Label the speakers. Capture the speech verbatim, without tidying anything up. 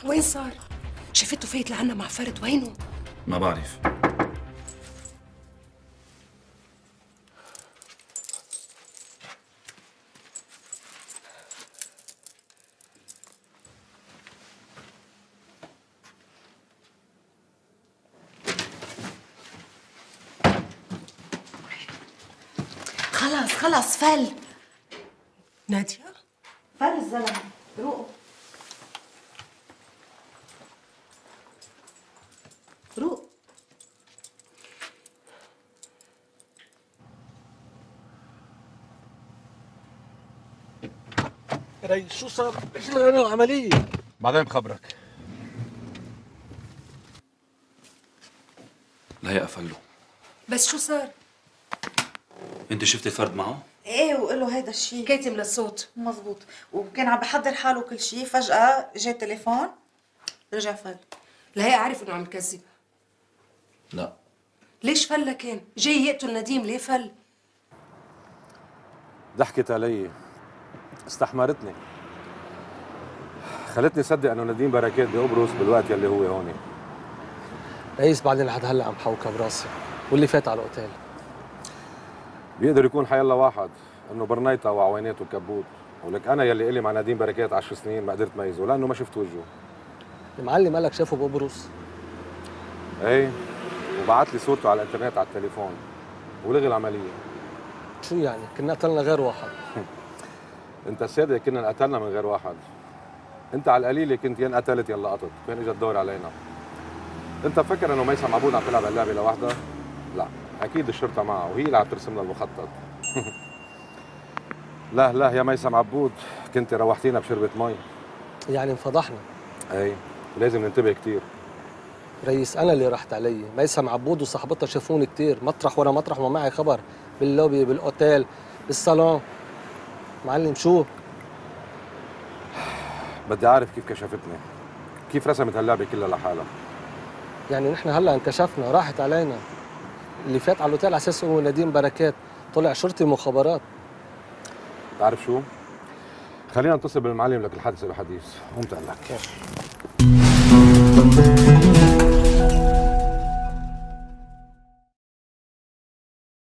Speaker 1: وين صار؟ شفته فايت لعنا مع فرد، وينه؟
Speaker 2: ما بعرف.
Speaker 1: خلص خلص فل. نادية؟
Speaker 3: فل الزلمة، روقوا روق.
Speaker 4: ريس شو صار؟ ايش العملية؟
Speaker 2: بعدين بخبرك. لهي قفله.
Speaker 1: بس شو صار؟
Speaker 2: انت شفتي الفرد معه؟
Speaker 3: ايه وقول له هيدا الشيء
Speaker 1: كاتم للصوت.
Speaker 3: مزبوط، وكان عم بحضر حاله كل شيء، فجأة جاء تليفون رجع فل.
Speaker 1: لهي عارف انه عم يكذب.
Speaker 2: لا.
Speaker 1: ليش فل كان؟ جاي يقتل نديم، ليه فل؟
Speaker 5: ضحكت علي، استحمرتني، خلتني صدق انه نديم بركات بقبرص بالوقت يلي هو هون.
Speaker 4: ريس بعدين لحد هلا عم حوكها براسي، واللي فات على الاوتيل
Speaker 5: بيقدر يكون حيالله واحد انه برنيطه وعويناته كبوت، ولك انا يلي الي مع نديم بركات عشر سنين ما قدرت ميزه لانه ما شفت وجهه.
Speaker 4: المعلم قالك شافه بقبرص؟
Speaker 5: ايه، وبعت لي صورته على الانترنت على التليفون ولغي العمليه.
Speaker 4: شو يعني؟ كنا قتلنا غير واحد.
Speaker 5: انت الساده كنا انقتلنا من غير واحد. انت على القليله كنت يا انقتلت يا لقطت، فين اجى الدور علينا؟ انت مفكر انه ميسم عبود عم تلعب اللعبه لوحدها؟ لا، اكيد الشرطه معها وهي اللي عم ترسم لنا المخطط. لا لا يا ميسم عبود، كنت روحتينا بشربة مي.
Speaker 4: يعني انفضحنا.
Speaker 5: اي، لازم ننتبه كثير.
Speaker 4: ريس انا اللي رحت علي، ميسم عبود وصاحبتها شافوني كثير، مطرح ورا مطرح وما معي خبر، باللوبي، بالاوتيل، بالصالون. معلم شو؟
Speaker 5: بدي اعرف كيف كشفتني، كيف رسمت هاللعبه كلها لحالها.
Speaker 4: يعني نحن هلا انكشفنا، راحت علينا. اللي فات على الاوتيل على اساس هو نديم بركات، طلع شرطي مخابرات.
Speaker 5: بتعرف شو؟ خلينا نتصل بالمعلم لك الحادثه بحديث، قوم تقلك.